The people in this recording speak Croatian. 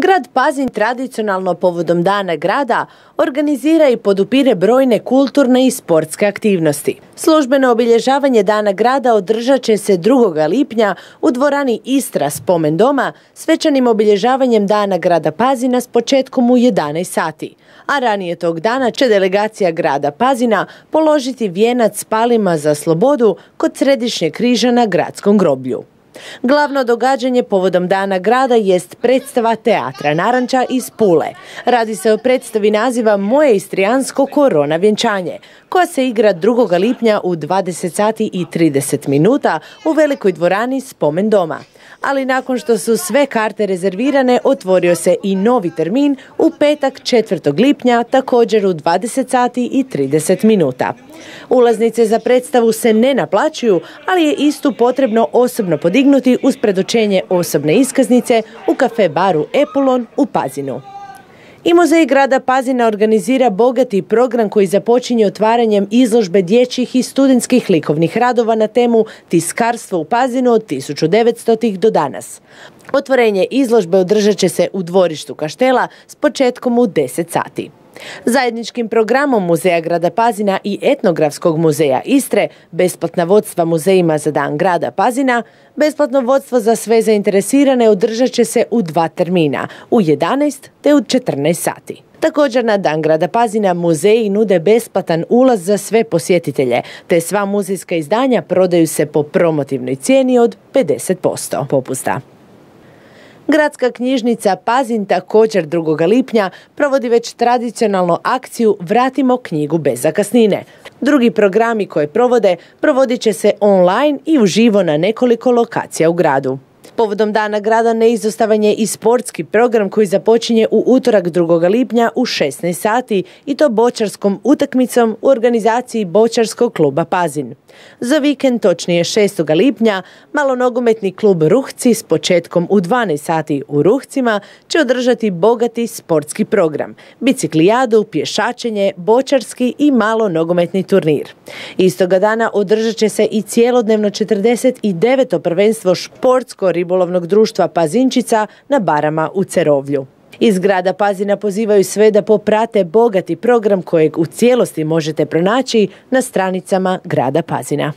Grad Pazin tradicionalno povodom Dana grada organizira i podupire brojne kulturne i sportske aktivnosti. Službeno obilježavanje Dana grada održat će se 2. lipnja u dvorani Istra Spomen doma svečanim obilježavanjem Dana grada Pazina s početkom u 11 sati. A ranije tog dana će delegacija grada Pazina položiti vijenac s palima za slobodu kod Središnjeg križa na gradskom groblju. Glavno događanje povodom Dana grada jest predstava Teatra Naranča iz Pule. Radi se o predstavi naziva Moje istrijansko korona vjenčanje, koja se igra 2. lipnja u 20 sati i 30 minuta u velikoj dvorani Spomen doma. Ali nakon što su sve karte rezervirane, otvorio se i novi termin u petak 4. lipnja, također u 20 sati i 30 minuta. Ulaznice za predstavu se ne naplaćuju, ali je istu potrebno osobno podignuti uz predočenje osobne iskaznice u kafe baru Epulon u Pazinu. I Muzej grada Pazina organizira bogati program koji započinje otvaranjem izložbe dječjih i studentskih likovnih radova na temu Tiskarstvo u Pazinu od 1900. do danas. Otvorenje izložbe održat će se u dvorištu Kaštela s početkom u 10 sati. Zajedničkim programom Muzeja grada Pazina i Etnografskog muzeja Istre, besplatna vodstva muzejima za Dan grada Pazina, besplatno vodstvo za sve zainteresirane održat će se u 2 termina, u 11 te u 14 sati. Također na Dan grada Pazina muzeji nude besplatan ulaz za sve posjetitelje, te sva muzejska izdanja prodaju se po promotivnoj cijeni od 50% popusta. Gradska knjižnica Pazin također 2. lipnja provodi već tradicionalnu akciju Vratimo knjigu bez zakasnine. Drugi programi koje provodit će se online i uživo na nekoliko lokacija u gradu. Povodom Dana grada neizostavan je i sportski program koji započinje u utorak 2. lipnja u 16 sati i to boćarskom utakmicom u organizaciji Boćarskog kluba Pazin. Za vikend, točnije 6. lipnja, malonogometni klub Ruhci s početkom u 12 sati u Ruhcima će održati bogati sportski program, biciklijadu, pješačenje, boćarski i malonogometni turnir. Istoga dana održat će se i cijelodnevno 49. prvenstvo Športsko-ribolovnog društva Pazinčica na Barama u Cerovlju. Iz grada Pazina pozivaju sve da poprate bogati program kojeg u cijelosti možete pronaći na stranicama grada Pazina.